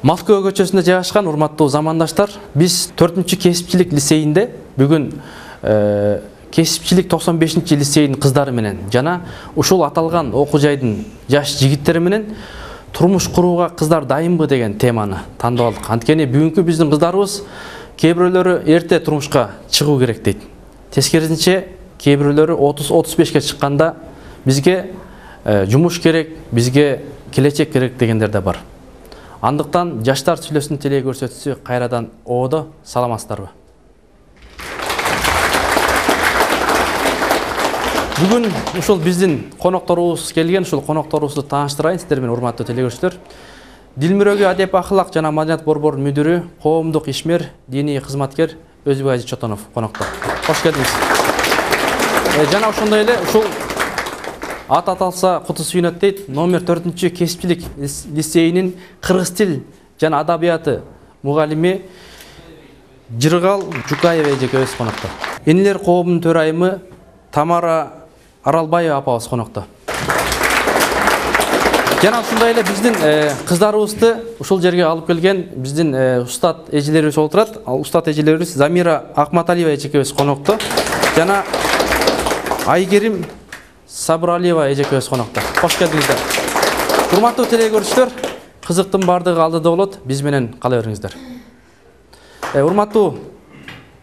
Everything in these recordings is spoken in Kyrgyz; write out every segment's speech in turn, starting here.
Москва көчөсүндө жайгашкан урматтуу замандаштар, биз 4-кесипчилик лицейинде бүгүн кесипчилик 95-лицейдин кыздары менен жана ушул аталган окуу жайдын жаш жигиттери менен турмуш курууга кыздар дайынбы деген теманы тандап алдык. Анткени бүгүнкү биздин кыздарыбыз кээ бирөөлөрү эрте турмушка чыгуу керек дейт. Тескерисинче кээ бирөөлөрү 30-35ке чыкканда бизге жумуш керек, бизге келечек керек дегендер да бар. Андыктан жаштар сүйлөсүн теле көрсөтүүсү кайрадан оодо. Саламатсыздарбы? Бүгүн ушул биздин конокторубуз келген, ушул конокторубузду тааныштырайын сиздер менен, урматтуу теле көрүүчүлөр. Дилмүрөгү адеп ахлак жана маданият борборунун мүдүрү, коомдук ишмер, диний кызматкер Өзбек Ажи Чотонов коноктор. Кош келдиңиз. Жана ошондой эле ушул ат аталса куту сүйнөт дейт, номер 4-кесипчилик лицейинин кыргыз тил жана адабияты мугалими Жыргал Жукаева эжекебиз коноктор. Энилер коомунун төрайымы Тамара Аралбаева апабыз конокто. Жана ушундай эле биздин кыздарыбызды ушул жерге алып келген биздин устат эжелерибиз болуп турат. Ал устат эжелерибиз Замира Акматалиева эжекебиз конокто. Жана Айгерим Сабыралиева эжекебиз конокто. Кош келдиңиздер. Урматтуу теле көрүүчүлөр, кызыктын бардыгы алдыда болот. Биз менен кала бериңиздер. Урматтуу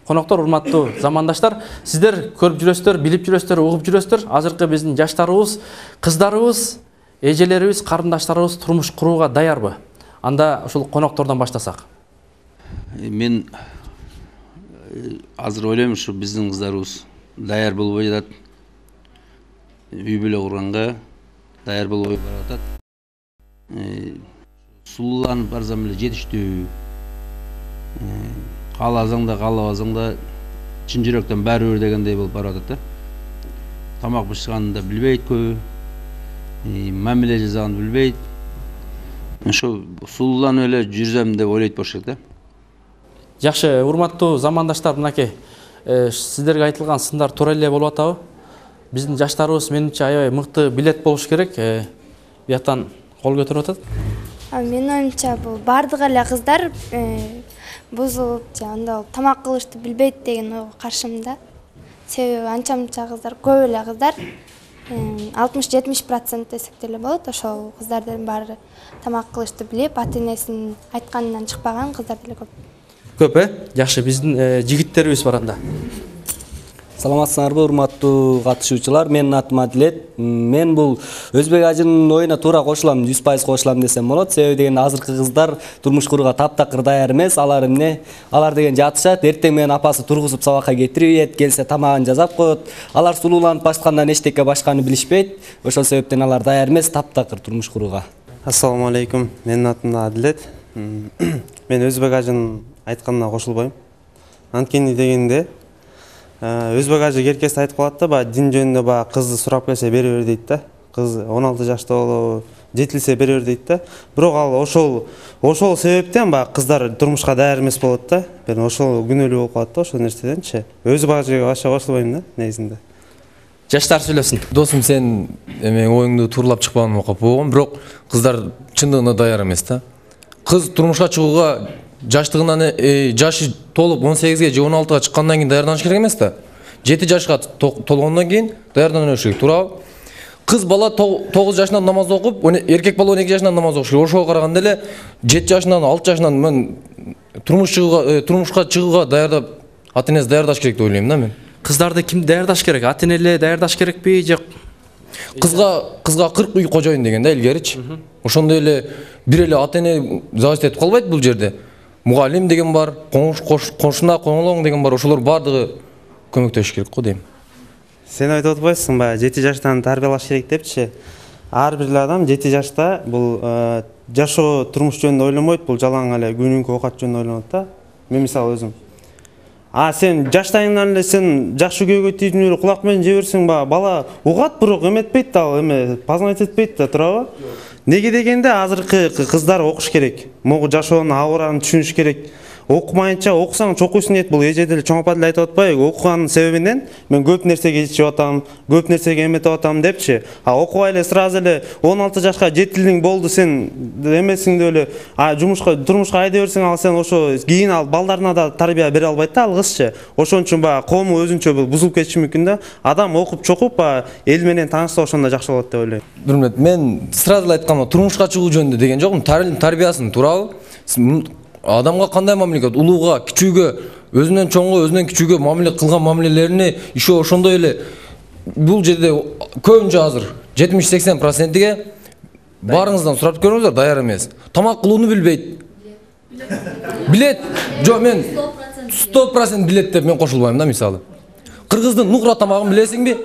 коноктор, урматтуу замандаштар, сиздер көрүп жүрөсүздөр, билип жүрөсүздөр, угуп жүрөсүздөр. Азыркы биздин жаштарыбыз, кыздарыбыз, эжелерибиз, карындаштарыбыз турмуш курууга даярбы? Анда ушул коноктордон баштасак. Мен азыр ойлойм, ушу биздин кыздарыбыз даяр болбой жатат. Үй бүлө курганга даяр болбой баратат. Сулууланып барсам эле жетиштүү. Кааласаң да, каалабасаң да чын жүрөктөн баары бир дегендей болуп баратат да. Тамак бышыганын да билбейт көбү. Мамиле жасаганды билбейт. Ошо сулууланып эле жүрсөм деп ойлойт болуш керек да. Жакшы, урматтуу замандаштар, мынакей сиздерге айтылган сындар туура эле болуп атабы? Биздин жаштарыбыз менимче аябай мыкты билет болуш керек. Бияктан кол көтөрүп атат. Менин оюмча бул бардык эле кыздар бузулуп, анда тамак кылышты билбейт деген ойго каршымда. Себеби анча-мынча кыздар, көп эле кыздар 60-70% десек деле болот. Ошол кыздардын баары тамак кылышты билип, ата-энесинин айтканынан чыкпаган кыздар деле көп. Көп, Жакшы, биздин жигиттерибиз бар анда. Саламатсыздарбы, урматтуу катышуучулар? Менин атым Адилет. Мен бул Өзбек Ажынын оюна туура кошулам, 100% кошулам десем болот. Себеби деген азыркы кыздар турмуш курууга таптакыр даяр эмес. Алар деген жатышат, эртең менен апасы тургузуп сабакка кетирип, келсе тамагын жасап коет. Алар сулууланып башкандан эчтеке башканы билишпейт. Ошол себептен алар даяр эмес таптакыр турмуш курууга. Ассаламу алейкум. Менин атым Адилет. Мен Өзбек Ажынын айтканына кошулбойм. Анткени дегенде Өзбек Ажы керкеси айтып калат да, дин жөнүндө кызды сурап келсе бере бер дейт да. Кыз 16 жашта болобу, жетилсе бере бер дейт да. Бирок ал ошол себептен кыздар турмушка даяр эмес болот да. Мен ошол күнөөлүү болуп калат да ошол нерседенчи. Өзбек Ажыга башка кошулбойм да негизинде. Жаштар сүйлөсүн. Досум, сен оюңду тууралап чыкпаганыңа капа болгом, бирок кыздар чындыгында даяр эмес да. Кыз турмушка чыгууга жаштыгынан жашы толуп 18ге же 16га чыккандан кийин даярданыш керек эмес да. 7 жашка толгондон кийин даярданыш керек, туурабы? Кыз бала 9 жашынан намаз окуп, эркек бала 12 жашынан намаз окуш керек. Ошого караганда эле 7 жашынан, 6 жашынан мен турмушка чыгууга даярдап, ата-энеси даярдаш керек деп ойлойм да мен. Кыздарды ким даярдаш керек? Ата-эне эле даярдаш керекпи же кызга 40 үй кожоюн деген да илгеричи. Ошондой эле бир эле ата-эне зависит этип калбайт бул жерде. Мугалим деген бар, кошуна коңолоң деген бар, ошолор бардыгы көмөктөшүш керек го дейм. Сен айтып атпайсың ба, 7 жаштан тарбиялаш керек депчи. Ар бир адам 7 жашта бул жашоо турмуш жөнүндө ойломойт, бул жалаң эле күнүмкү оокат жөнүндө ойлонот да. Мен мисалы өзүм. Сен жаштайыңдан эле сен жакшы күйөөгө тийип кулак менен же берсең, бала угат, бирок эметпейт да, ал познать этпейт да, туурабы? Неге дегенде азыркы кыздар окуш керек. Могу жашоонун абырын түшүнүш керек. окумайынча окусаң чокуйсуң дейт. Бул эже деле чоң апа деле айтып атпайбы? Окуганын себебинен мен көп нерсеге ичип атам, көп нерсеге эметип атам депчи. А окубай эле сразу эле 16 жашка жетилдиң болду сен эмесиң деп эле турмушка айдап берсең ал сен ошо кийин ал балдарына да тарбия бере албайт да ал кызчы. Ошон үчүн баягы коому өзүнчө бул бузулуп кетиши мүмкүн да. Адам окуп чокуп эл менен таанышса ошондо жакшы болот деп ойлойм. Урмат, мен сразу эле айткам, турмушка чыгуу жөнүндө деген жокмун. Тарбиясын туурабы? Адамга кандай мамиле, улууга, кичүүгө, өзүнөн чоңго, өзүнөн кичүүгө мамиле кылган мамилелерине иши ошондой эле бул жерде көбүнчө азыр 70-80%ге баарыңыздан сурап көрүңүздөр, даяр эмес. Тамак кылууну билбейт. Билет. Жок, мен 100% билет деп мен кошулбайм да, мисалы. Кыргыздын нукра тамагын билесиңби?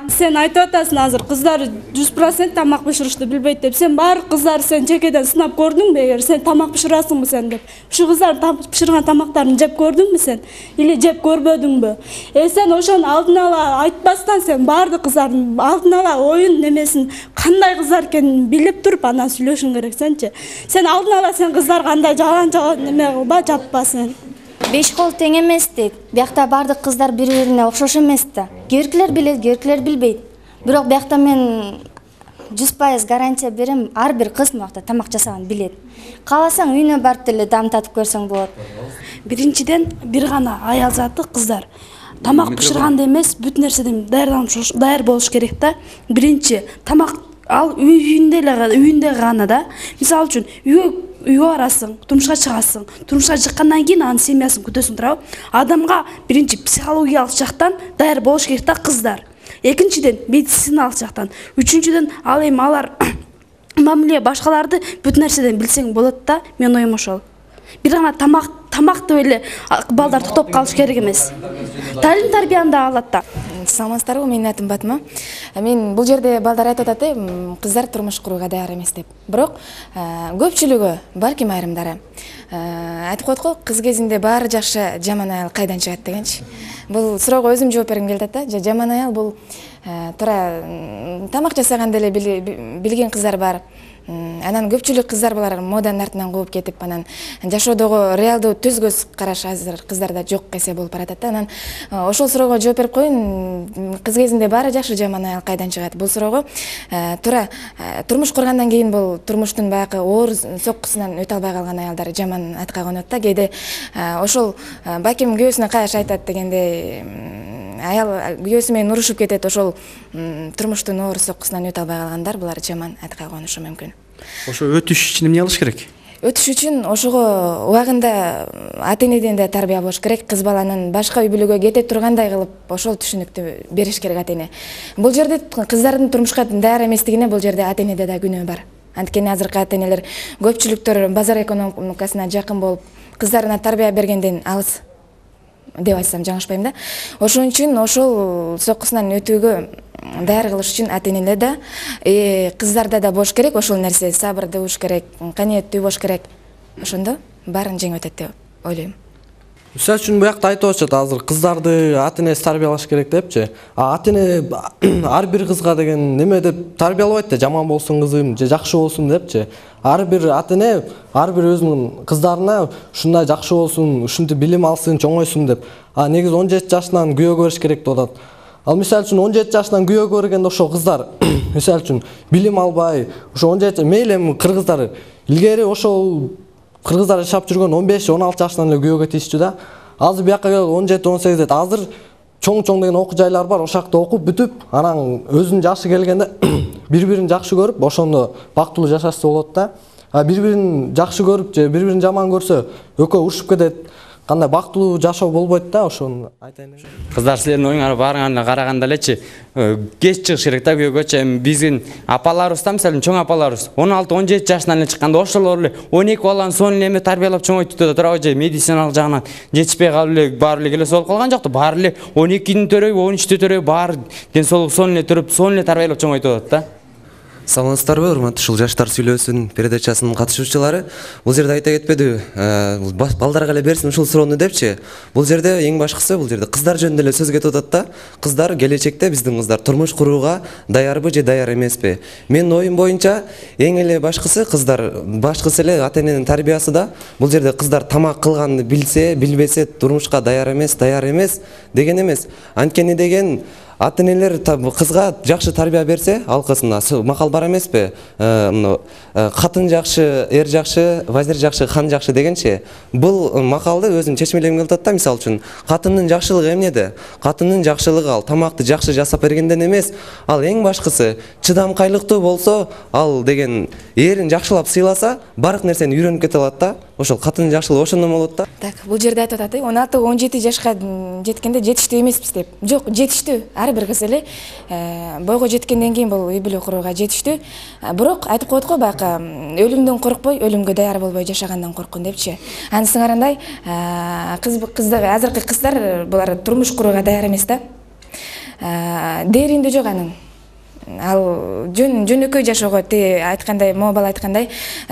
Сен айтып атасың азыр кыздар 100% тамак бышырышты билбейт деп. Сен бар кыздар сен жекеден сынап көрдүңбү? Эгер сен тамак бышырасыңбы сен деп. Ушу кыздар бышырган тамактарын жеп көрдүңбү сен? Или жеп көрбөдүңбү? Сен ошону алдын ала айтпастан сен бардык кыздардын алдын ала оюн немесин кандай кыздар экенин билип туруп анан сүйлөшүң керек сенчи. Сен алдын ала сен кыздар кандай жалан неме кылба, жаппа сен. 5 кол тең эмес дейт. Биякта бардык кыздар бири-бирине окшош эмес да. Кээкилер билет, кээкилер билбейт. Бирок биякта мен 100% гарантия берем, ар бир кыз муакта тамак жасаган билет. Кааласаң үйүнө барып деле дам татып көрсөң болот. Биринчиден бир гана аял заты кыздар. Тамак бышырганда эмес, бүт нерседен даяр болуш керек да. Биринчи тамак ал үйүндө гана да. Мисалы үчүн үйгө барасың, турмушка чыгасың. Турмушка чыккандан кийин анын семьясын күтөсүң, туурабы? Адамга биринчи психологиялык жактан даяр болуш керек да кыздар. Экинчиден медициналык жактан. Үчүнчүдөн ал эми алар мамиле башкаларды бүт нерседен билсең болот да. Мен оюм ошол. Бир гана тамак деп эле балдар токтоп калыш керек эмес. Талим тарбияны да алат да. Саламатсыздарбы, менин атым Батма. Мен бул жерде балдар айтып атат, кыздар турмуш курууга даяр эмес деп. Бирок көпчүлүгү, балким айрымдары айтып коет го, кыз кезинде баары жакшы, жаман аял кайдан чыгат дегенчи. Бул суроого өзүм жооп бергим келип атат да. Жаман аял бул туура тамак жасаган деле билген кыздар бар. Анан көпчүлүк кыздар булар моданын артынан кууп кетип, анан жашоодогу реалдуу төз көз караш азыр кыздарда жок эсе болуп баратат да. Анан ошол суроого жооп берип коеюн, кыз кезинде баары жакшы, жаман аял кайдан чыгат? Бул суроого туура турмуш кургандан кийин бул турмуштун баягы оор соккусунан өтө албай калган аялдар жаман атка конот да. Кээде ошол балким күйөөсүнө каяш айтат дегендей, аял күйөөсү менен урушуп кетет, ошол турмуштун оор соккусунан өтө албай калгандар булар жаман атка конушу мүмкүн. Ошо өтүш үчүн эмне кылыш керек? Өтүш үчүн ошого убагында ата-энеден да тарбия болуш керек. Кыз баланын башка үй бүлөгө кете тургандай кылып ошол түшүнүктү бериш керек ата-эне. Бул жерде кыздардын турмушка даяр эместигине бул жерде ата-энеде да күнөө бар. Анткени азыркы ата-энелер көпчүлүктөр базар экономикасына жакын болуп, кыздарына тарбия бергенден алыс деп айтсам жаңылышпайм да. Ошон үчүн ошол соккусунан өтүүгө даяр кылыш үчүн ата-энелер да, кыздарда да болуш керек ошол нерсе, сабырдуу болуш керек, канияттүү болуш керек. Ошондо баарын жеңип өтөт деп ойлойм. Мисалы үчүн буякта айтып атышат азыр кыздарды ата-энеси тарбиялаш керек депчи. Ата-эне ар бир кызга деген неме деп тарбиялабайт да, жаман болсун кызым же жакшы болсун депчи. Ар бир ата-эне ар бир өзүнүн кыздарына ушундай жакшы болсун, ушинтип билим алсын, чоңойсун деп. Негизи 17 жашынан күйөөгө бериш керек деп атат. Ал мисалы үчүн 17 жашынан күйөөгө бергенде ошол кыздар мисалы үчүн билим албай, ошо 17 мейли эми кыргыздар илгери ошол кыргыздар жашап жүргөн 15-16 жашынан эле күйөөгө тийишчү да. Азыр бияка келип 17-18 дейт. Азыр чоң деген окуу жайлар бар, ошакта окуп бүтүп, анан өзүнүн жашы келгенде бири-бирин жакшы көрүп, ошондо бактылуу жашашса болот да. Бири-бирин жакшы көрүп же бири-бирин жаман көрсө, экөө урушуп кетет. Кандай бактылуу жашоо болбойт да, ошону айтайын. Кыздар, силердин оюңарга баарына караганда элечи кеч чыгыш керек да күйөөгөчү. Эми биздин апаларыбыз да, мисалы чоң апаларыбыз 16-17 жашынан эле чыкканда ошолор эле 12 баланы сонун эле тарбиялап чоңойтуп да туурабы, же медициналык жагынан жетишпей калып эле баары эле келе болуп калган жокто. Баары эле 12-ні төрөйбү, 13-тү төрөйбү, баары ден соолугу сонун эле төрөп, сонун эле тарбиялап чоңойтуп атат да. Саламатсыздарбы, урматтуу ушул жаштар сүйлөсүн передачасынын катышуучулары. Бул жерде айта кетпедиби, балдарга эле берсин ушул суроону депчи. Бул жерде эң башкысы, бул жерде кыздар жөнүндө эле сөз кетип атат да. Кыздар келечекте биздин кыздар турмуш курууга даярбы же даяр эмеспи? Менин оюм боюнча эң эле башкысы кыздар, башкысы эле ата эненин тарбиясы да. Бул жерде кыздар тамак кылганды билсе, билбесе турмушка даяр эмес деген эмес. Анткени деген ата энелер кызга жакшы тарбия берсе, алкысына макал бар эмеспи? Катын жакшы, эр жакшы, вазир жакшы, хан жакшы дегенчи. Бул макалды өзүм чечмелегим келип атат да, мисалы үчүн. Катындын жакшылыгы эмнеде? Катындын жакшылыгы ал тамакты жакшы жасап бергенден эмес, ал эң башкысы чыдамкайлыктуу болсо, ал деген эрин жакшылап сыйласа, бардык нерсени үйрөнүп кете алат да. Ошол катындын жакшылыгы ошондон болот да. Так, бул жерде айтып атат, 16-17 жашка жеткенде жетиштүү эмеспиз деп. Жок, жетиштүү. Ар бир кыз эле бойго жеткенден кийин бул үй бүлө курууга жетиштүү. Бирок айтып коет го баягы өлүмдөн коркпой, өлүмгө даяр болбой жашагандан корккун депчи. Анысы ырандай азыркы кыздар булар турмуш курууга даяр эмес да. Дээринде жок анын. Ал жөнөкөй жашоого, айткандай, бала айткандай,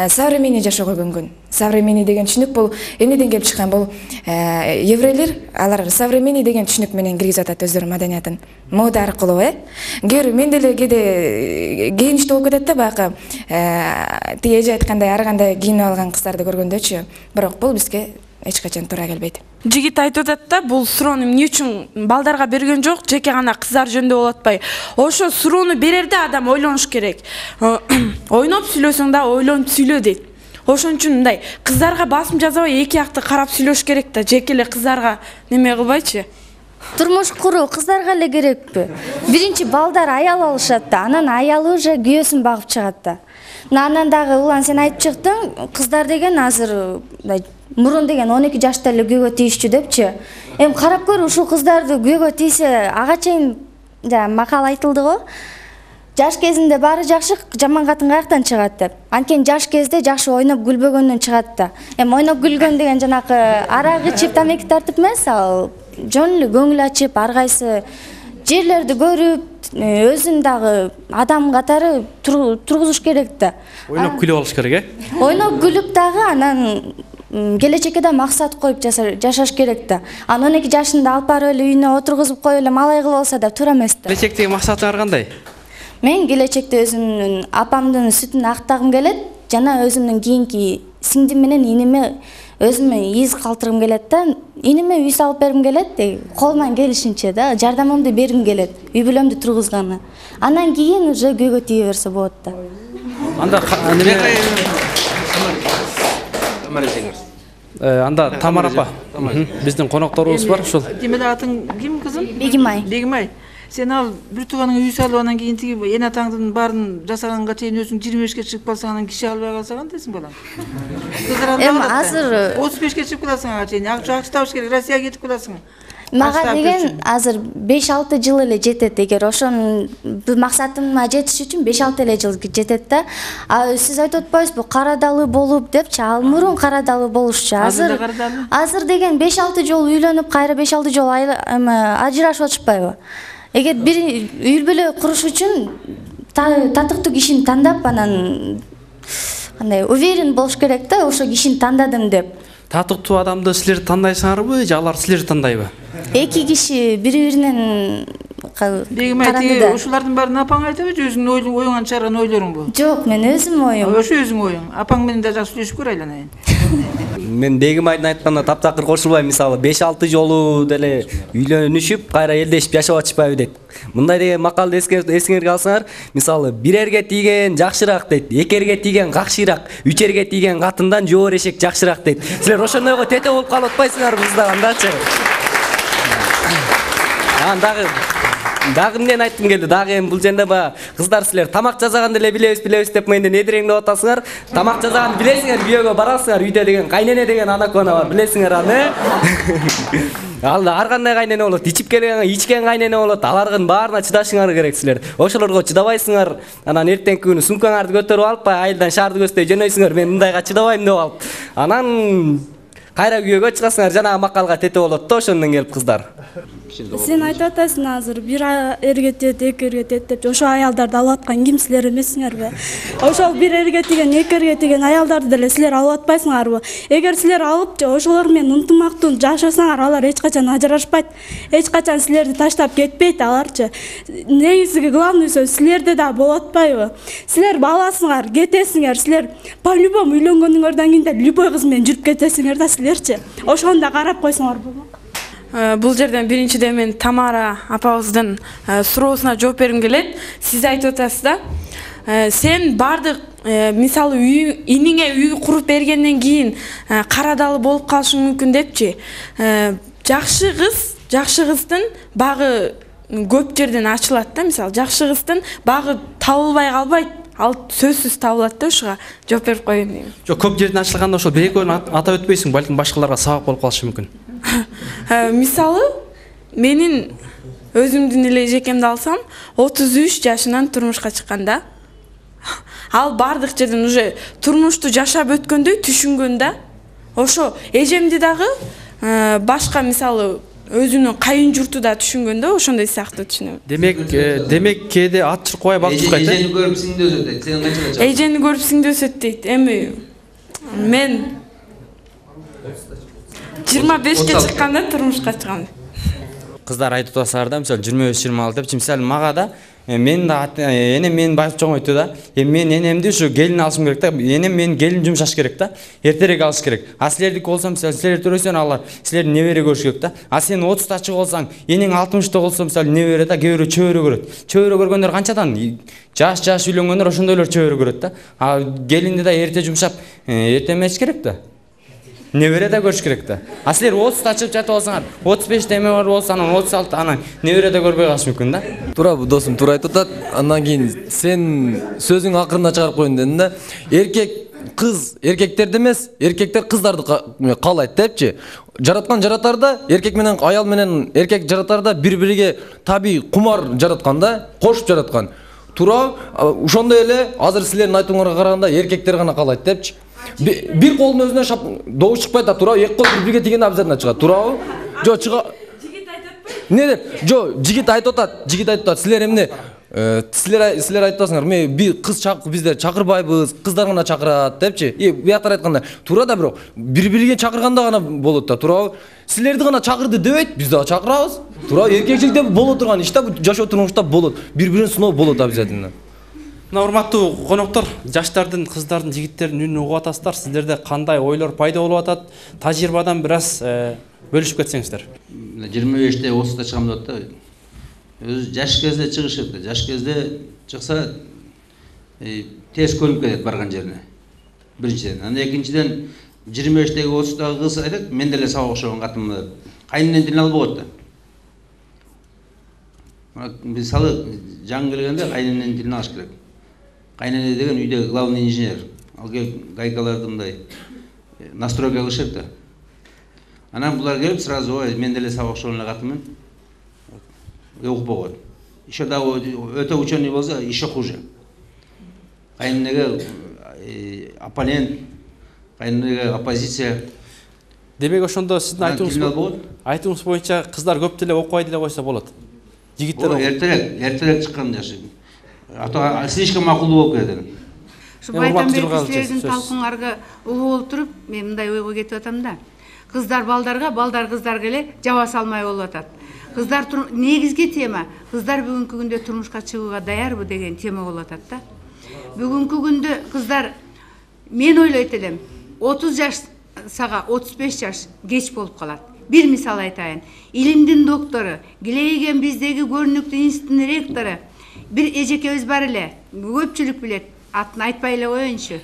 современный жашоого көнгөн. Современный деген түшүнүк бул эмнеден келип чыккан? Бул еврейлер, алар современный деген түшүнүк менен киргизип атат өздөрүнүн маданиятын. Мода аркылуу, мен деле кээде кийиничтүү болуп кетет да, баягы эже айткандай ар кандай кийинип алган кыздарды көргөндөчү. Бирок бул бизге эч качан туура келбейт. Жигит айтып атат да, бул суроону эмне үчүн балдарга берген жок, жеке гана кыздар жөнүндө болуп атпайбы? Ошо суроону берерде адам ойлонуш керек. Ойноп сүйлөсөң да ойлонуп сүйлө дейт. Ошон үчүн мындай кыздарга басым жасабай эки жакты карап сүйлөш керек да, жеке эле кыздарга неме кылбайчы. Турмуш куруу кыздарга эле керекпи? Биринчи балдар аял алышат да, анан аялы уже күйөөсүн багып чыгат да. Анан дагы улан сен айтып чыктың, кыздар деген азыр мурун деген 12 жашта эле күйөөгө тийишчү депчи. Эми карап көр, ушул кыздарды күйөөгө тийсе, ага чейин макал айтылды го. Жаш кезинде баары жакшы, жаман катын каяктан чыгат деп. Анткени жаш кезде жакшы ойноп күлбөгөндөн чыгат да. Эми ойноп күлгөн деген жанакы арак ичип, тамеки тартып эмес, ал жөн эле көңүл ачып, ар кайсы жерлерди көрүп, өзүн дагы адам катары тургузуш керек да. Ойноп күлүп алыш керек, Ойноп күлүп дагы анан келечекке да максат коюп жашаш керек да. Анан 12 жашында алып барып эле үйүнө отургузуп коюп эле малай кылып алса да туура эмес да. Келечектеги максатыңар кандай? Мен келечекте өзүмдүн апамдын сүтүн актагым келет, жана өзүмдүн кийинки сиңдим менен иниме өзүмө из калтыргым келет да. Иниме үй салып бергим келет, колуман келишинче да, жардамымды бергим келет, үй бүлөмдү тургузганы. Анан кийин уже күйөөгө тие берсе болот да. Анда Тамара апа, биздин конокторубуз бар ушул. Демек атың ким кызым? Бегимай. Бегимай. Сен ал бир тууганың үй салып анан кийин тиги эне атаңдын баарын жасаганга чейин өзүң 25-ке чыгып калсаң, анан киши албай калса кантесиң балам? Эми азыр 35-ке чыгып каласың ага чейин, акча табыш керек, Россияга кетип каласың. Мага деген азыр 5-6 жыл эле жетет, эгер ошонун максатыма жетиш үчүн 5-6 эле жыл жетет да. Сиз айтып атпайсызбы, карадалы болуп депчи, ал мурун карадалы болушчу. Азыр деген 5-6 жолу үйлөнүп, кайра 5-6 жолу ажырашып атышпайбы? Эгер бир үй бүлө куруш үчүн татыктуу кишини тандап, анан кандай уверен болуш керек да, ошо кишини тандадым деп. Татыктуу адамды силер тандайсыңарбы же алар силерди тандайбы? Эки киши бири-биринен Бегимай, ушулардын баарын апаң айтабы же өзүңдүн оюңан чыгарган ойлоруңбу? Жок, мен өзүм оюм. Ошо өзүң оюң. Апаң менен да жакшы сүйлөшүп көр айланайын. Мен Бегимайдын айтканына таптакыр кошулбайм. Мисалы 5-6 жолу деле үйлөнүшүп, кайра элдешип жашап атышпайбы дейт. Мындай деген макалды эсиңерге алсаңар, мисалы бирерге тийген жакшыраак дейт, экерге тийген какшыраак, үчерге тийген катындан жоор эшек жакшыраак дейт. Силер ошондойго тете болуп калып атпайсыңарбы кыздар андачы? Дагы эмнени айткым келди? Дагы эми бул жерде кыздар силер тамак жасаганды эле билебиз деп менден эдиреңдеп атасыңар. Тамак жасаганды билесиңер, күйөөгө барасыңар, үйдө деген кайнене деген анакона бар, билесиңер аны. Ал ар кандай кайнене болот, ичкен кайнене болот, алардын баарына чыдашыңар керек силер. Ошолорго чыдабайсыңар, анан эртеңки күнү сумкаңарды көтөрүп алып, айылдан шаарды көздөй жөнөйсүңөр, мен мындайга чыдабайм деп алып. Анан кайра күйөөгө чыгасыңар, жанагы макалга тете болот да ошондон келип кыздар. Сен айтып атасың азыр бир эрге тиет, эки эрге тиет деп. Ошо аялдарды алып аткан ким, силер эмессиңерби? Ошол бир эрге тиген, эки эрге тиген аялдарды деле силер алып атпайсыңарбы? Эгер силер алып ошолор менен ынтымактуу жашасаңар, алар эч качан ажырашпайт. Эч качан силерди таштап кетпейт аларчы. Негизги главный сөз силерде да болот атпайбы? Силер баласыңар, кетесиңер, силер по-любому үйлөнгөнүңөрдөн кийин да любой кыз менен жүрүп кетесиңер да силерчи. Ошону да карап койсоңор болот. Бул жерден биринчиден мен Тамара апабыздын суроосуна жооп бергим келет. Сиз айтып атасыз да, сен бардык мисалы иниңе үй куруп бергенден кийин карадалы болуп калышың мүмкүн депчи. Жакшы кыздын багы көп жерден ачылат да, мисалы жакшы кыздын багы табылбай калбайт. Ал сөзсүз табылат да, ушуга жооп берип коеюн дейм. Жок, көп жерден ачылганда ошол бир-экөөнү атап өтпөйсүң, балким башкаларга сабак болуп калышы мүмкүн. Мисалы, менин өзүмдүн эле эжекемди алсам, 33 жашынан турмушка чыкканда, ал бардык жерден уже турмушту жашап өткөндөй түшүнгөн да. Ошо эжемди дагы башка мисалы өзүнүн кайын журту да түшүнгөн да, ошондой сыяктуу түшүнөм. Демек кээде ат чыркабай бак чыкпайт. Эжени көрүп сиңди өсөт дейт. Сен канчага чыккан? Эжени көрүп сиңди өсөт дейт. Эми мен 25-ке чыкканда турмушка чыгам. Кыздар айтып атасыздар да, мисалы 25-26 депчи, мисалы мага да мен да энем мени байып чоңойту да. Мен энемди ушу келин алышым керек да. Энем менин келин жумшаш керек да. Эртерээк алыш керек. А силердики болсо, мисалы силер төрөсөң алар силерди небере көрүш керек да. А сен 30-та чыгып болсаң, энең 60-та болсо, мисалы небере да, кээ бирөө чөбөрө көрөт. Чөбөрө көргөндөр канчадан? Жаш үйлөнгөндөр ошондойлор чөбөрө көрөт да. А келинди да эрте жумшап, эрте эмеш керек да. Небере да көрүш керек да. А силер 30-та чыгып жатып алсаңар, 35-те эме бар болсо, анан 36-та анан небере да көрбөй калыш мүмкүн да. Туура, досум туура айтып атат. Андан кийин сен сөзүң акырында чыгарып коеюн дедиң да. Кыз эркектерди эмес, эркектер кыздарды каалайт депчи. Жараткан жаратарда, эркек менен аял менен эркек жаратарда бири-бириге табий кумар жараткан да, кошуп жараткан. Туура, ошондой эле азыр силердин айтууңарга караганда эркектер гана каалайт депчи. Бир колдун өзүнө добуш чыкпайт да, туура, эки кол бири-бириге тигенде обязательно чыгат, туурабы? Жок, жигит айтып атпайбы? Не деп? Жок, жигит айтып атат. Силер эмне? Силер айтып атасыңар, бир кыз биздер чакырбайбыз, кыздар гана чакырат депчи. Бияктар айтканда, туура да, бирок бири-бириге чакырганда гана болот да, туурабы? Силерди гана чакырды дебейт, биз дагы чакырабыз. Туура, эркекчиликте боло турган иш да, жашоо турмушта болот. Бири-бирин сыноо болот обязательно. Мына урматтуу коноктор, жаштардын, кыздардын, жигиттердин үнүн угуп атасыздар. Сиздерде кандай ойлор пайда болуп атат? Тажрыйбадан бир аз бөлүшүп кетсеңиздер. 25-те 30-та чыгам деп атты. Өзү жаш кезде чыгышат да. Жаш кезде чыкса тез көрүнүп кетет барган жерине. Биринчиден. Анан экинчиден 25-теги 30-тагы кыз айтат, мен деле сага окшогон катынмын деп. Кайнынан тилин албай коет да. Мисалы жаңы келгенде кайнынан тилин алыш керек. Кайнене деген үйдө главный инженер. Ал келип гайкаларды мындай настройка кылышат да. Анан булар келип сразу мен деле сага окшогон эле катынмын. Укпай коет. Еще да өтө ученый болсо еще хуже. Кайненеге оппонент, кайненеге оппозиция. Демек ошондо сиздин айтууңуз боюнча кыздар көп деле окубай деле койсо болот. Жигиттер эртерээк чыккан жашы. Слишком макулдуу болуп кетет. Ушу Байтамбек силердин талкууңарга угуп отуруп, мен мындай ойго кетип атам да. Кыздар балдарга, балдар кыздарга эле жаба салмай болуп атат. Кыздар негизги тема, кыздар бүгүнкү күндө турмушка чыгууга даярбы деген тема болуп атат да. Бүгүнкү күндө кыздар, мен ойлойт элем, 30 жаш сага 35 жаш кеч болуп калат. Бир мисал айтайын. Илимдин доктору, Гилейген биздеги көрүнүктүү институттун ректору, бир эжекебиз бар эле, көпчүлүк билет, атын айтпай эле коеюнчу.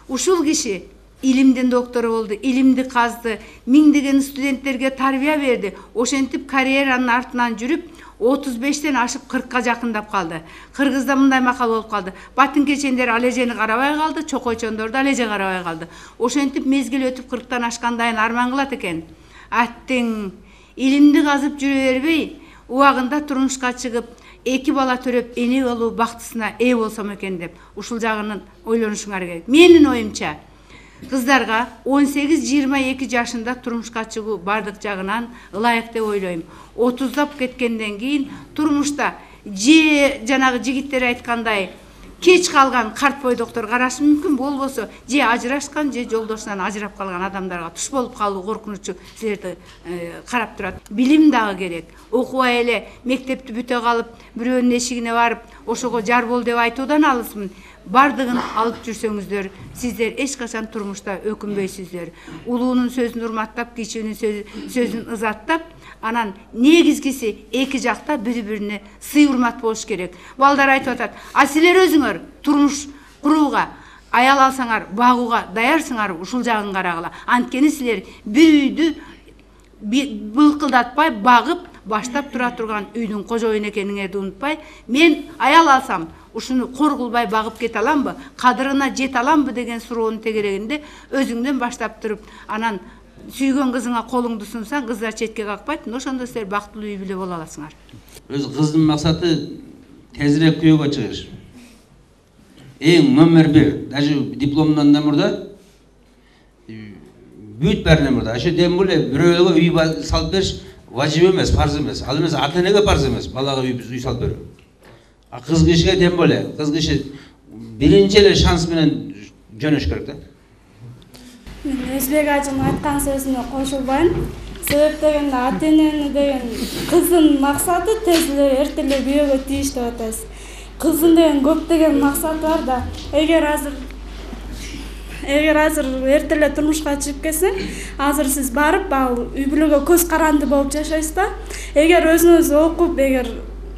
Ушул киши илимдин доктору болду, илимди казды, миңдеген студенттерге тарбия берди. Ошентип карьеранын артынан жүрүп, 35-тен ашып 40-ка жакындап калды. Кыргызда мындай макал болуп калды. Батын кечендер ал эжени карабай калды, чокойчондор да ал эже карабай калды. Ошентип мезгил өтүп 40-тан ашкандайын арман кылат экен. Аттың илимди казып жүрө бербей, убагында турмушка чыгып, 2 бала төрөп, эне болуу бактысына ээ болсом экен деп, ушул жагынан ойлонушуңар керек. Менин оюмча, кыздарга 18-22 жашында турмушка чыгуу бардык жагынан ылайык деп ойлойм. 30дап кеткенден кийин турмушта же жанагы жигиттер айткандай кеч калган карт бойдоктор карашы мүмкүн, болбосо же ажырашкан же жолдошунан ажырап калган адамдарга туш болуп калуу коркунучу силерди карап турат. Билим дагы керек. Окубай эле мектепти бүтө калып, бирөөнүн эшигине барып, ошого жар бол деп айтуудан алысмын. Бардыгын алып жүрсөңүздөр, сиздер эч качан турмушта өкүнбөйсүздөр. Улуунун сөзүн урматтап, кичүүнүн сөзүн ызаттап, анан негизгиси эки жакта бири-бирине сый урмат болуш керек. Балдар айтып атат, а силер өзүңөр турмуш курууга, аял алсаңар, багууга даярсыңар, ушул жагын карагыла. Анткени силер бир үйдү былкылдатпай багып, баштап тура турган үйдүн кожоюну экениңерди унутпай, мен аял алсам, ушуну кор кылбай багып кете аламбы, кадырына жете аламбы деген суроонун тегерегинде өзүңдөн баштап туруп, анан сүйгөн кызыңа колуңду сунсаң, кыздар четке какпайт, ошондо силер бактылуу үй бүлө боло аласыңар. Өз кыздын максаты тезирээк күйөөгө чыгыш. Эң номер 1, даже дипломдон да мурда, бүт бәрінен мурда. Ошо дем эле бирөөгө үй салып бериш важип эмес, фарз эмес. Ал эмес ата-энеге фарз эмес, балага үй салып берүү. А кыз кишиге дем эле, кыз киши биринчи эле шанс менен жөнөш керек да. Мен Өзбек ажынын айткан сөзүнө кошулбайм. Себеп дегенде ата-энени деген кыздын максаты тез эле эрте эле күйөөгө тийиш деп атабыз. Кыздын деген көптөгөн максаты бар да. Эгер азыр эрте эле турмушка чыгып кетсең, азыр сиз барып, ал үй бүлөгө көз каранды болуп жашайсыз да. Эгер өзүңүз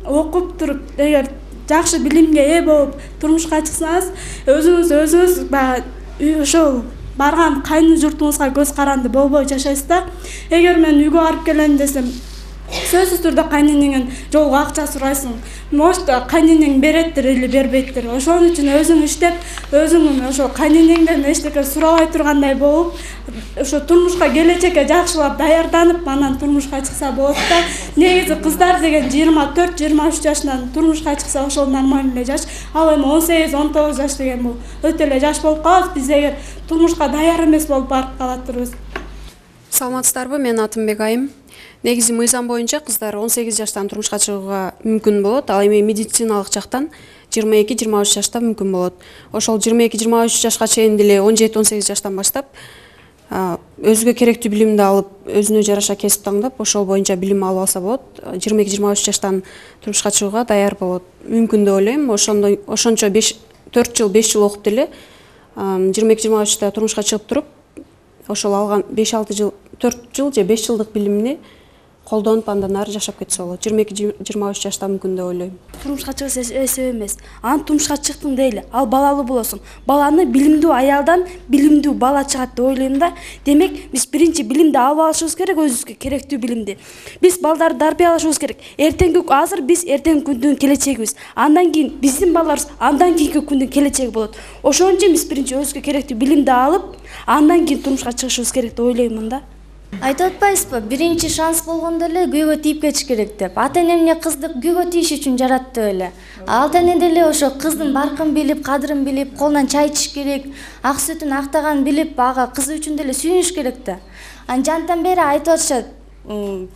окуп туруп, эгер жакшы билимге ээ болуп турмушка чыксаңыз, өзүңүз баягы ошол барган кайны журтуңузга көз каранды болбой жашайсыз да. Эгер мен үйгө барып келем десем, сөзсүз түрдө кайненеңден жолго акча сурайсың. Может, кайненең береттир или бербейттир. Ошон үчүн өзүң иштеп, өзүң ошо кайненеңден эчтеке сурабай тургандай болуп, ошо турмушка келечекке жакшылап даярданып, анан турмушка чыкса болот да. Негизи кыздар деген 24-23 жашынан турмушка чыкса ошол нормальный эле жаш. Ал эми 18-19 жаш деген бул өтө эле жаш болуп калат. Биз эгер турмушка даяр эмес болуп барып калатырбыз. Саламатсыздарбы, мен атым Айым. Негизи мыйзам боюнча кыздар 18 жаштан турмушка чыгууга мүмкүн болот, ал эми медициналык жактан 22-23 жашта мүмкүн болот. Ошол 22-23 жашка чейин деле 17-18 жаштан баштап өзүгө керектүү билимди алып, өзүнө жараша кесип таңдап, ошол боюнча билим алып алса болот. 22-23 жаштан турмушка чыгууга даяр болот. Мүмкүн деп ойлойм. Ошончо 4 жыл, 5 жыл окуп деле 22-23 турмушка чыгып туруп, ошол алган 5-6 жыл, 4 жыл же 5 жылдык билимини колдонуп андан ары жашап кетсе болот. 22-23 жашта мүмкүн деп ойлойм. Турмушка чыгыш эсеп эмес. Анан турмушка чыктың дейли, ал балалуу болосуң. Баланы билимдүү аялдан билимдүү бала чыгат деп ойлойм да. Демек, биз биринчи билимди алып алышыбыз керек, өзүбүзгө керектүү билимди. Биз балдарды тарбиялашыбыз керек. Азыр биз эртеңки күндүн келечегибиз. Андан кийин биздин балдарыбыз андан кийинки күндүн келечеги болот. Ошон үчүн биз биринчи өзүбүзгө керектүү билимди алып, андан кийин турмушка чыгышыбыз керек деп ойлоймун да. Айтып атпайсызбы, биринчи шанс болгондо эле күйгө тийип кетиш керек деп. Ата-эне эмне кызды күйгө тийиш үчүн жаратты эле. Ата-эне деле ошо кыздын баркын билип, кадырын билип, колунан чай ичиш керек, ак сүтүн актаганын билип, ага кызы үчүн деле сүйүнүш керек да. Жантан бери айтып атышат,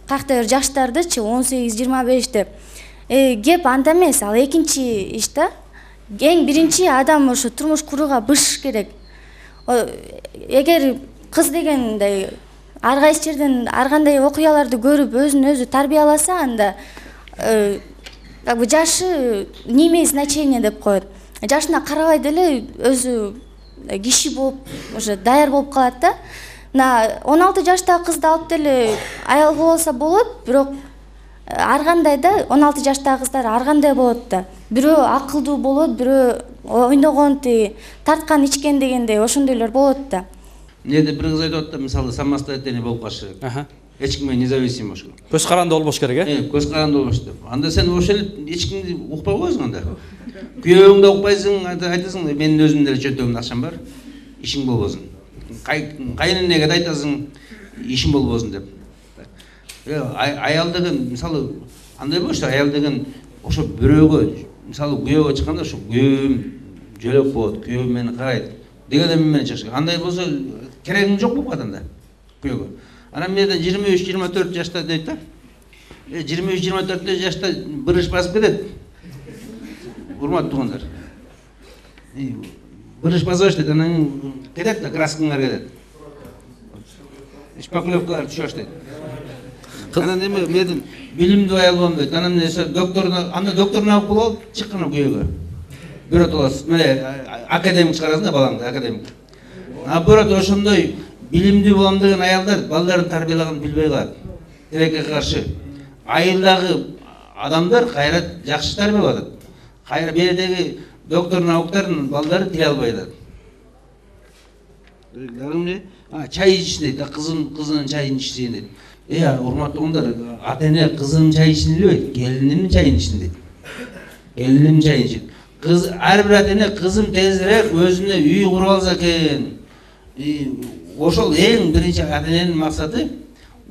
кайта бир жаштардычы 18-25 деп. Кеп анда эмес, ал экинчи иш да. Эң биринчи адам ошо турмуш курууга бышыш керек. Эгер кыз дегенде ар кайсы жерден ар кандай окуяларды көрүп өзүн өзү тарбияласа, анда жашы не имеет значения деп коет. Жашына карабай деле өзү киши болуп, уже даяр болуп калат да. 16 жаштагы кызды алып деле аял кылып алса болот, бирок ар кандай да 16 жаштагы кыздар ар кандай болот да. Бирөө акылдуу болот, бирөө ойногон, тарткан, ичкен дегендей ошондойлор болот да. Неде бир кыз айтып атты, мисалы самостоятельный болуп калыш керек. Эч кимге независим болуш керек. Көз каранды болбош керек, Көз каранды болбош деп. Анда сен ошо эле эч кимди укпай койсуң анда. Күйөөңдү да укпайсың, айтасың, менин өзүмдүн деле чөнтөгүмдө акчам бар, ишиң болбосун. Кайненеге да айтасың, ишиң болбосун деп. Аял деген мисалы андай болуш да, аял деген ошо бирөөгө, мисалы күйөөгө чыкканда ошо күйөөм жөлөк болот, күйөөм мени карайт. деген эме менен чыгыш керек. Андай болсо керегиң жок болуп калат анда күйөөгө. Анан менде 23-24 жашта дейт да. 23-24 жашта бырыш басып кетет. Урматтуу туугандар. Бырыш басып баштайт, анан кетет да, краскаңар кетет. Шпаклевкалар түшө баштайт. Анан эми мен билимдүү аял болом дейт. Анан анда докторуна алып болуп чыккан күйөөгө. Бирөө толос, академик чыгарасың да балаңды, академик. Наоборот, ошондой билимдүү болом деген аялдар балдарын тарбиялаганын билбей калат. Тилекке каршы. Айылдагы адамдар кайра жакшы тарбиялап атат. Кайра бердеги доктор науктардын балдары тиле албай атат. Чай ичишин дейт, кызынын чайын ичишин дейт. Урматтуу туугандар, ата-эне кызынын чайын ичишин билбейт, келининин чайын ичишин дейт. Келининин чайын ичет. Кыз ар бир ата-эне кызым тезирээк өзүнө үй куруп алса экен. Ошол эң биринчи ата-эненин максаты,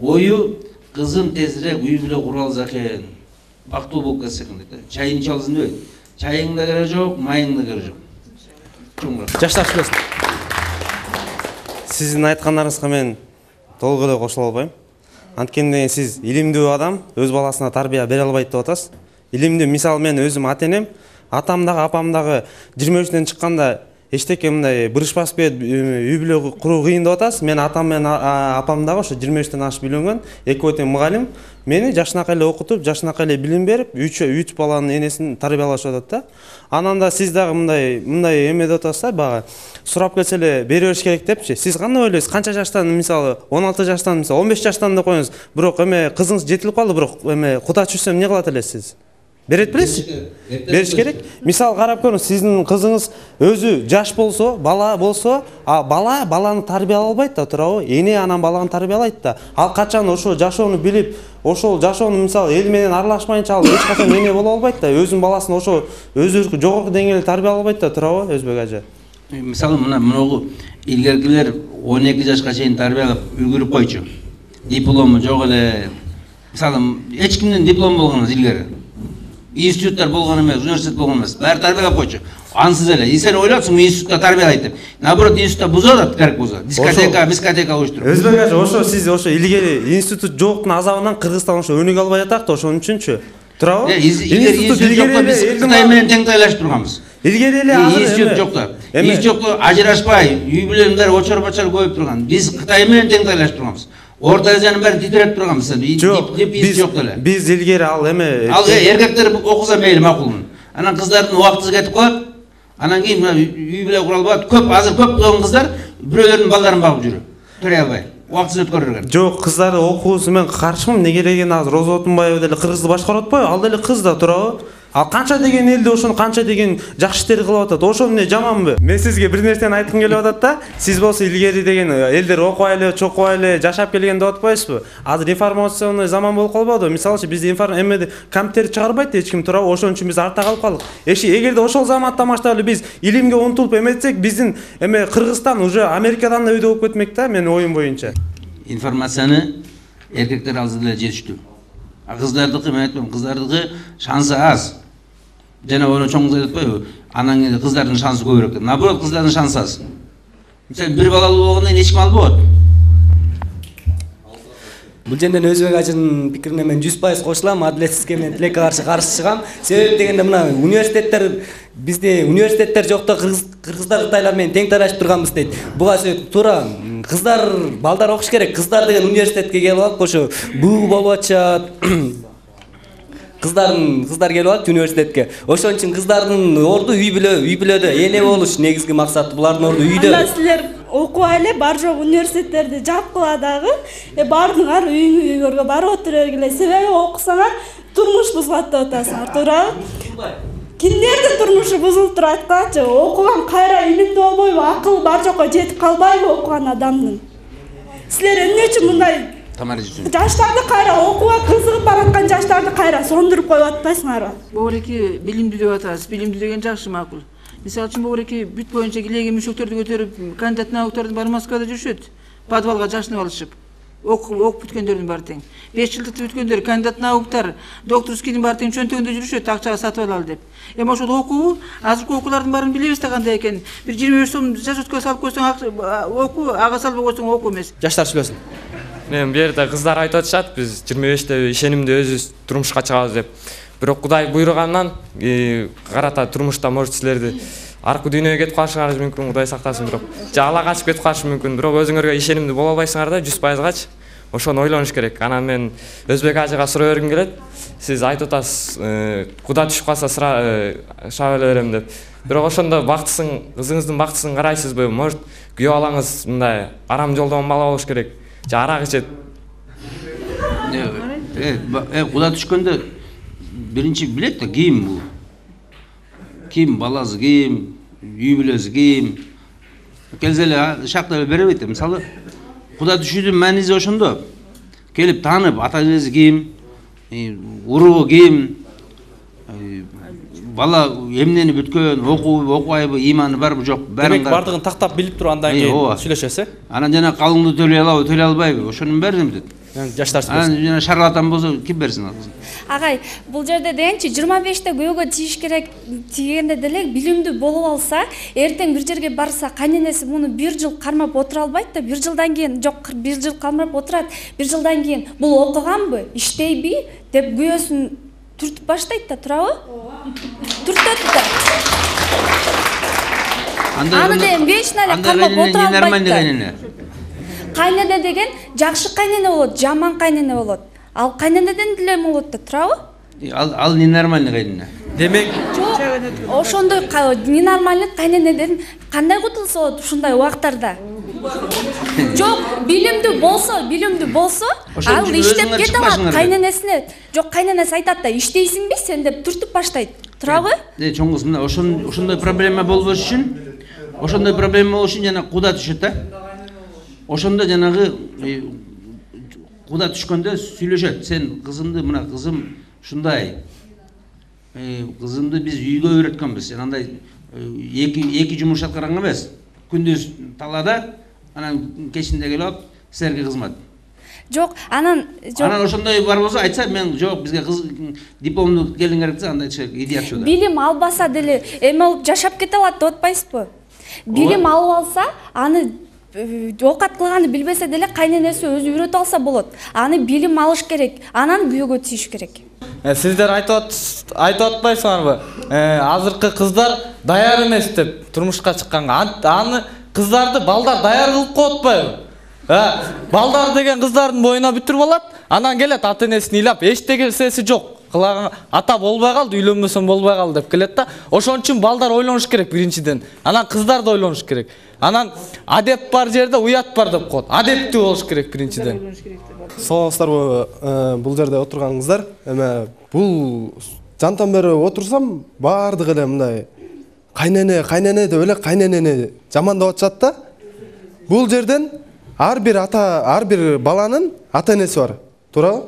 ою кызым тезирээк үй бүлө куруп алса экен. Бактылуу болуп кетсе экен дейт. Чайын ичип алсын дебейт. Чайың да кереги жок, майың да кереги жок. Жаштар сүйлөсүн. Сиздин айткандарыңызга мен толук эле кошула албайм. Анткени сиз илимдүү адам өз баласына тарбия бере албайт деп атасыз. Илимдүү, мисалы мен өзүм ата-энем, атам дагы, апам дагы 23-тен чыкканда эчтеке мындай бырыш басып кетип үй бүлө куруу кыйын деп атасыз. Мен атам менен апам дагы ошо 23-тен ашып үйлөнгөн, экөө тең мугалим. Мени жашынакай эле окутуп, жашынакай эле билим берип, 3 баланын энесин тарбиялашып атат да. Анан да сиз дагы мындай эме деп атасыз да, бага сурап келсе эле бере бериш керек депчи. Сиз кандай ойлойсуз? Канча жаштан, мисалы 16 жаштан, мисалы 15 жаштан деп коюңуз. Бирок эме кызыңыз жетилип калды, бирок эме куда түшсөм эмне кылат элесиз? Берет белесизби? Бериш керек. Мисалы карап көрүңүз, сиздин кызыңыз өзү жаш болсо, бала болсо, баланы тарбиялай албайт да, туурабы? Эне анан баланы тарбиялайт да. Ал качан ошо жашоону билип, ошол жашоону мисалы эл менен аралашмайынча ал эч качан эне боло албайт да. Өзүнүн баласын ошо өзү жогорку деңгээлде тарбиялай албайт да, туурабы, Өзбек ажа? Мисалы мынагу илгеркилер 12 жашка чейин тарбиялап үлгүрүп койчу. Диплому жок эле. Мисалы эч кимдин диплому болгон эмес илгери. Институттар болгон эмес, университет болгон эмес. Баары тарбиялап койчу. Ансыз эле. Сен ойлопсуң институтта тарбиялайт деп. Наоборот, институтта бузат атат, керек болсо. Дискотека уюштуруп. Өзбек ажа, ошо сиз ошо илгери институт жоктун азабынан Кыргызстан ошо өнүгө албай атат да, ошон үчүнчү. Туурабы? Институт жокто биз Кытай менен тең тайлашып турганбыз. Илгери эле институт жокто. Институтта ажырашпай, үй бүлөнүн баары очор-бачар коюп турган. Биз Кытай менен тең тайлашып турганбыз. Орто Азиянын баарын титиретип турганбыз. Биз жок эле. Биз илгери ал эме эркектер окуса мейли макулмун. Анан кыздардын убактысы кетип калат. Анан кийин үй бүлө кура албайт. Азыр көп болгон кыздар бирөөлөрдүн балдарын багып жүрөт. Төрөй албай. Убактысын өткөрүргөн. Жок, кыздарды окуусу мен каршымын. Неге дегенде азыр Роза Отунбаева деле Кыргызды башкарып атпайбы? Ал деле кыз да, туурабы? Ал канча деген элде ошону канча деген жакшы иштер кылып атат. Ошо эмне жаманбы? Мен сизге бир нерсени айткым келип атат да. Сиз болсо илгери деген элдер окубай эле, чокубай эле жашап келген деп атпайсызбы? Азыр информационный заман болуп калбадыбы? Мисалы бизде эмеде компьютер чыгарбайт эч ким, туурабы? Ошон үчүн биз артта калып калдык. Эгерде ошол заматта баштап эле биз илимге умтулуп эметсек, биздин эме Кыргызстан уже Америкадан да өйдө болуп кетмек да, менин оюм боюнча. Информацияны эркектер алды деле жетиштүү. Кыздардыкы, мен айтпайм, кыздардыкы шансы аз. Жана оны чоңуз айтып атпайбы? Анан кийин кыздардын шансы көбүрөөк деп. Наоборот, кыздардын шансы аз. Сен бир балалуу болгондон кийин эч ким албайт. Бул жерден Өзбек ажынын пикирине мен 100% кошулам. Адилетсизге мен тилекке каршы чыгам. Себеби дегенде мына университеттер, бизде университеттер жокто, кыргыздар Кытайлар менен тең тайлашып турганбыз дейт. Буга себеп туура кыздар, балдар окуш керек. Кыздар деген университетке келип алып, ошо буу болуп атышат. Кыздар келип алат университетке. Ошон үчүн кыздардын орду үй бүлөдө эне болуш негизги максаты. Булардын орду үйдө. Анда силер окубай эле бар жок университеттерди жапкыла дагы, бардыңар үйгөргө барып отура бергиле. Себеби окусаңар турмуш бузулат деп атасыңар, туурабы? Кимдердин турмушу бузулуп турат качы? Окуган кайра илимдүү болбойбу? Акыл бар жокко жетип калбайбы окуган адамдын? Силер эмне үчүн мындай жаштарды кайра окууга кызыгып бараткан жаштарды кайра сондуруп коюп атпайсыңарбы? Бобуреки билимдүү деп атасыз. Билимдүү деген жакшы, макул. Мисалы үчүн бобуреки бүт боюнча килеген мүшөктөрдү көтөрүп, кандидат науктардын баары Москвада жүрүшөт. Подвалга жашынып алышып. окуп бүткөндөрдүн баары тең. 5 жылдыкты бүткөндөр, кандидат науктар, докторскийдин баары тең чөнтөгүндө жүрүшөт, акчага сатып алалы деп. Эми ошол окуу, азыркы окуулардын баарын билебиз да кандай экенин. Бир 25 сом жашөткө салып койсоң окуу, ага салбай койсоң окуу эмес. Жаштар сүйлөсүн. Мен бу жерде кыздар айтып атышат, биз 25-те ишенимде өзүбүз турмушка чыгабыз деп. Бирок Кудай буйругандан карата турмушта может силерди аркы дүйнөгө кетип калышыңар мүмкүн, Кудай сактасын, бирок же ала качып кетип калышы мүмкүн. Бирок өзүңөргө ишенимдүү боло албайсыңар да 100%гачы. Ошону ойлонуш керек. Анан мен Өзбек ажыга суроо бергим келет. Сиз айтып атасыз, куда түшүп калса шаба эле берем деп. Бирок ошондо бактысын, кызыңыздын бактысын карайсызбы? Может, күйөө балаңыз мындай арам жолдон бала болуш керек. Же арак ичет. Куда түшкөндө биринчи билет да кийим бул. Кийим баласы кийим, үй бүлөсү кийим. Келсе эле шактап эле беребейт. Мисалы, куда түшүүдүн мааниси ошондо. Келип таанып, ата-энеси кийим, уруу кийим, бала эмнени бүткөн, окубайбы, иманы барбы, жок, баарын. Демек бардыгын тактап билип туруп андан кийин сүйлөшөсүз. Анан жана калыңды төлөй алабы, төлөй албайбы, ошонун баарын эмдет. Жаштар сүйлөсүн. Анан жана шарлатан болсо ким берсин ал? Агай, бул жерде дегенчи 25-те күйөөгө тийиш керек дегенде деле билимдүү болуп алса, эртең бир жерге барса, кайненеси муну 1 жыл кармап отура албайт да, 1 жылдан кийин жок, 1 жыл кармап отурат, 1 жылдан кийин бул окуганбы, иштейби деп күйөөсүн түртүп баштайт да, турабы? Түртөт да. Аны деген вечно эле кармап отура албайт да. Кайнене деген жакшы кайнене болот, жаман кайнене болот. Ал кайненеден деле болот да, турабы? Ал ненормальный кайнене. Демек, ошондой ненормальный кайненеден кандай кутулса болот ушундай убактарда? Жок, билимдүү болсо, ал иштеп кете алат кайненесине. Жок, кайненеси айтат да, иштейсиңби сен деп түртүп баштайт. Турабы? Чоң кыз, мына ошондой проблема болбош үчүн, жана куда түшөт да. Ошондо жанагы куда түшкөндө сүйлөшөт. Сен кызымды, мына кызым ушундай. Кызымды биз үйгө үйрөткөнбүз. Сен андай эки жумуш аткарган эмес. Күндүз талаада, анан кечинде келип, силерге кызмат. Жок, анан ошондой бар болсо айтса, мен жок, бизге кыз дипломду келиңер десе, андай идеячу да. Билим албаса деле эме болуп жашап кете алат деп атпайсызбы? Билим алып алса, аны оокат кылганды билбесе деле кайненеси өзү үйрөтүп алса болот. Аны билим алыш керек, анан күйөөгө тийиш керек. Сиздер айтып атпайсыңарбы? Азыркы кыздар даяр эмес деп турмушка чыкканга. Аны кыздарды балдар даяр кылып коет атпайбы? Балдар деген кыздардын боюна бүтүрүп алат, анан келет ата-энесин ыйлап, эчтегесеси жок. Кылаган ата болбой калды, үйлөнбөсөм болбой калды деп келет да. Ошон үчүн балдар ойлонуш керек биринчиден. Анан кыздар да ойлонуш керек. Анан адеп бар жерде уят бар деп коет. Адептүү болуш керек биринчиден. Саламатсыздарбы? Бул жерде отурган кыздар, эме бул жантан бери отурсам, бардыгы эле мындай кайнене деп эле кайненени жамандап атышат да. Бул жерден ар бир баланын ата-энеси бар. Туурабы?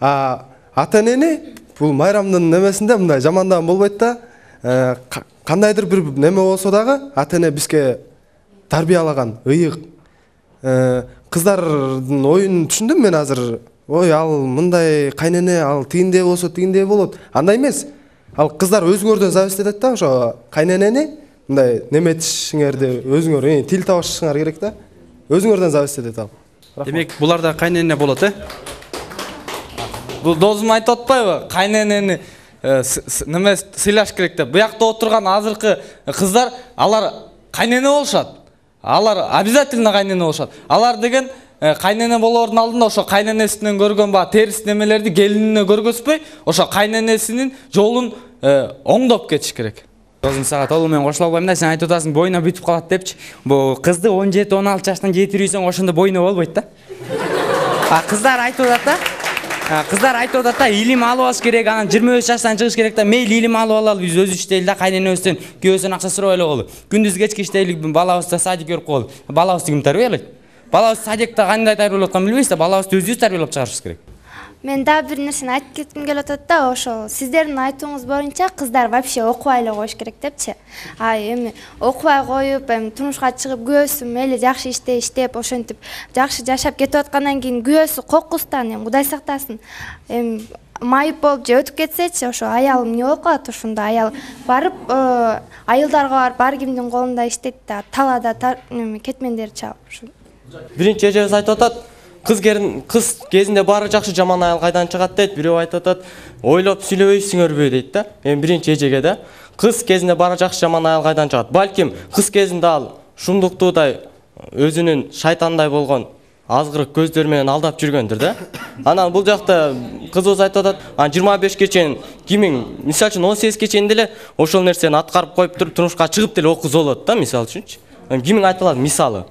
Ата-энени бул майрамдын немесинде мындай жамандаган болбойт да. Кандайдыр бир неме болсо дагы ата-эне бизге тарбиялаган, ыйык. Кыздардын оюн түшүндүм мен азыр. Ой, ал мындай кайнене, ал тигиндей болсо тигиндей болот. Андай эмес. Ал кыздар өзүңөрдөн зависит этет да, ошо кайненени мындай неметишиңерди өзүңөр тил табышыңар керек да. Өзүңөрдөн зависит этет ал. Демек, буларда кайнене болот, Бул досум айтып атпайбы? Кайненени неме сыйлаш керек деп. Буякта отурган азыркы кыздар, алар кайнене болушат. Алар обязательно кайнене болушат. Алар деген кайнене болоордун алдында ошо кайненесинен көргөн терис немелерди келинине көргөзбөй, ошо кайненесинин жолун оңдоп кетиш керек. Досум сага толук менен кошула албайм да, сен айтып атасың боюна бүтүп калат депчи. Бул кызды 17-16 жаштан жетирүүсөң ошондо боюна болбойт да. Кыздар айтып атат да. Кыздар айтып атат да, илим алып алыш керек, анан 23 жаштан чыгыш керек да. Мейли илим алып алалы, биз өзү иштейли да, кайненебизден күйөөсүнөн акча сурабай эле болду. Күндүз кечки иштейли, балабызды садикке берип коелу. Балабызды ким тарбиялайт? Балабызды садикте кандай тарбиялап атканын билбейбиз да, балабызды өзүбүз тарбиялап чыгарышыбыз керек. Мен дагы бир нерсени айтып кетким келип атат да, ошол сиздердин айтууңуз боюнча кыздар вообще окубай эле коюш керек депчи. Эми окубай коюп, эми турмушка чыгып күйөөсү мейли жакшы иштеп, ошентип жакшы жашап кетип аткандан кийин күйөөсү кокустан, эми Кудай сактасын, эми майып болуп же өтүп кетсечи, ошо аялым эмне болуп калат, ошондо аял барып айылдарга барып ар кимдин колунда иштейт да, талаада кетмендерди чабып. Биринчи эжебиз айтып атат, кыз кезинде баары жакшы, жаман аял кайдан чыгат дейт. Бирөө айтып атат, ойлоп сүйлөбөйсүңөрбү дейт да. Эми биринчи эжеге да кыз кезинде баары жакшы, жаман аял кайдан чыгат? Балким кыз кезинде ал шумдуктуудай өзүнүн шайтандай болгон азгырык көздөр менен алдап жүргөндүр да. Анан бул жакта кызыбыз айтып атат, 25 чейин кимиң, мисалы үчүн 18 чейин деле ошол нерсени аткарып коюп туруп турмушка чыгып деле окуз болот да, мисалы үчүнчү. Кимиң айта алат мисалы?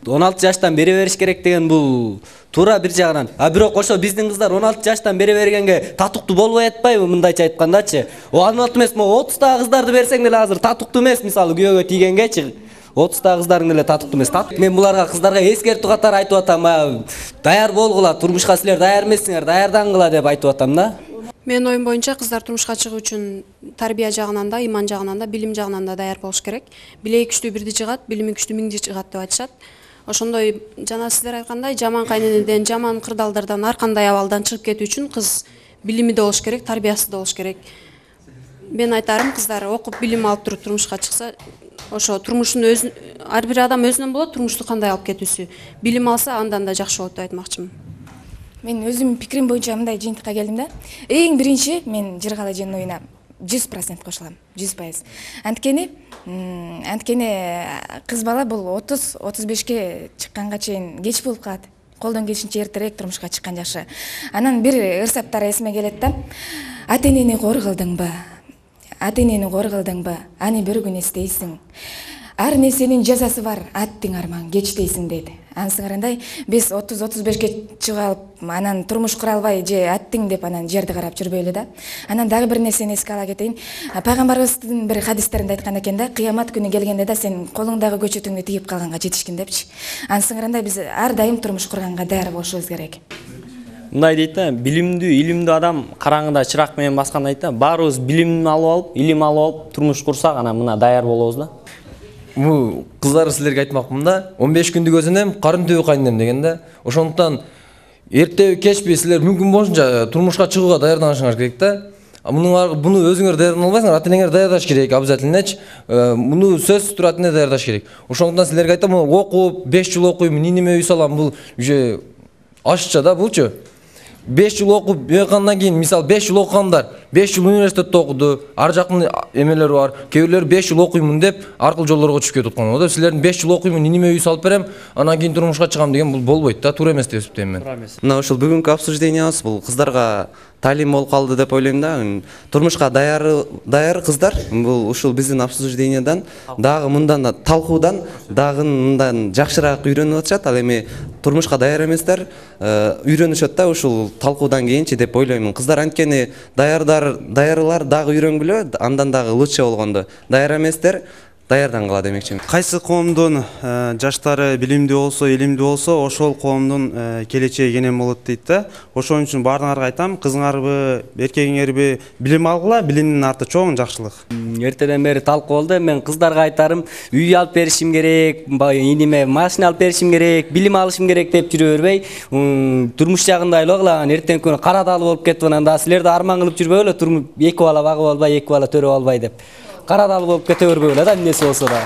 16 жаштан бере бериш керек деген бул туура бир жагынан. Бирок ошо биздин кыздар 16 жаштан бере бергенге татыктуу болбой атпайбы, мындайча айткандачы? 16 эмес, 30 кыздарды берсең деле азыр татыктуу эмес, мисалы күйөөгө тийгенгечи. 30 кыздардын деле татыктуу эмес. Мен буларга кыздарга эскертүү катары айтып атам, даяр болгула, турмушка силер даяр эмессиңер, даярдангыла деп айтып атам да. Менин оюм боюнча кыздар турмушка чыгуу үчүн тарбия жагынан да, иман жагынан да, билим жагынан да даяр болуш керек. Билеги күчтүү бирди жыгат, билими күчтүү миңди жыгат деп айтышат. Ошондой жана сиздер айткандай жаман кайненеден, жаман кырдаалдардан, ар кандай абалдан чыгып кетүү үчүн кыз билими да болуш керек, тарбиясы да болуш керек. Мен айтарым, кыздар окуп билим алып туруп турмушка чыкса, ошо турмуштун ар бир адам өзүнөн болот, турмушту кандай алып кетүүсү. Билим алса, андан да жакшы болот деп айтмакчымын. Мен өзүмдүн пикирим боюнча мындай жыйынтыкка келдим да. Эң биринчи мен Жыргал эженин оюна 100% кошулам, 100%. Анткени кыз бала бул 30-35ке чыкканга чейин кеч болуп калат. Колдон келишинче эртерээк турмушка чыккан жакшы. Анан бир ырсаптар эсиме келет да. Ата-энени кор кылдыңбы? Ата-энени кор кылдыңбы? Аны бир күн эстейсиң. Ар нерсенин жазасы бар, аттың арман кеч дейсиң дейт. Ансыңарандай биз 30-35ке чыгып алып, анан турмуш кура албай же аттың деп анан жерди карап жүрбөйлү да. Анан дагы бир нерсени эске ала кетейин. Пайгамбарыбыздын бир хадистеринде айткан экен да, кыямат күнү келгенде да сен колуңдагы көчөтүңдү тигип калганга жетишкин депчи. Ансыңарандай биз ар дайым турмуш курганга даяр болушубуз керек. Мындай дейт да, билимдүү, илимдүү адам караңгыда чырак менен баскан дейт да. Баарыбыз билим алып алып, илим алып алып турмуш курсак, анан мына даяр болобуз да. Бул кыздар силерге айтмакмын да, 15 күндүк өзүнөм, карын түбү кайненем деген да. Ошондуктан эртеби кечпи силер мүмкүн болушунча турмушка чыгууга даярданышыңар керек да. Буну өзүңөр даярдана албайсыңар, ата-энеңер даярдаш керек обязательночи. Муну сөзсүз тура ата-эне даярдаш керек. Ошондуктан силерге айтам, окуп 5 жыл окуйм, неме үй салам, бул уже ашча да булчу. 5 жыл окуп бекандан кийин, мисалы 5 жыл окугандар, 5 жыл университетте окуду, ар жактын эмелери бар. Кээ бирлери 5 жыл окуймун деп аркыл жолдорго түшүп кетип аткан. Ода силердин 5 жыл окуймун, неме үй салып берем, анан кийин турмушка чыгам деген бул болбойт да, туура эмес деп эсептейм мен. Мына ушул бүгүнкү обсуждениябыз бул кыздарга талим болуп калды деп ойлойм да. Турмушка даяр кыздар бул ушул биздин обсуждениядан дагы мындан талкуудан дагы мындан жакшыраак үйрөнүп атышат. Ал эми турмушка даяр эместер үйрөнүшөт да ушул талкуудан кийинчи деп ойлоймун. Кыздар анткени даярлар дагы үйрөнгүлө, андан дагы лучше болгондо. Даяр эместер даярдангыла демекчимин. Кайсы коомдун жаштары билимдүү болсо, илимдүү болсо, ошол коомдун келечеги кенен болот дейт да. Ошон үчүн баарыңарга айтам, кызыңарбы, эркегиңерби билим алгыла, билимдин арты чоң жакшылык. Эртеден бери талкуу болду. Мен кыздарга айтарым, үй алып беришим керек, иниме машина алып беришим керек, билим алышым керек деп жүрө бербей, турмуш жагында ойлогула. Эртең күнү кара дал болуп кетип анан да силерди арман кылып жүрбөйлү, эки бала багып албай, эки бала төрөп албай деп. Кара дал болуп кете бербөйлү да, эмнеси болсо да.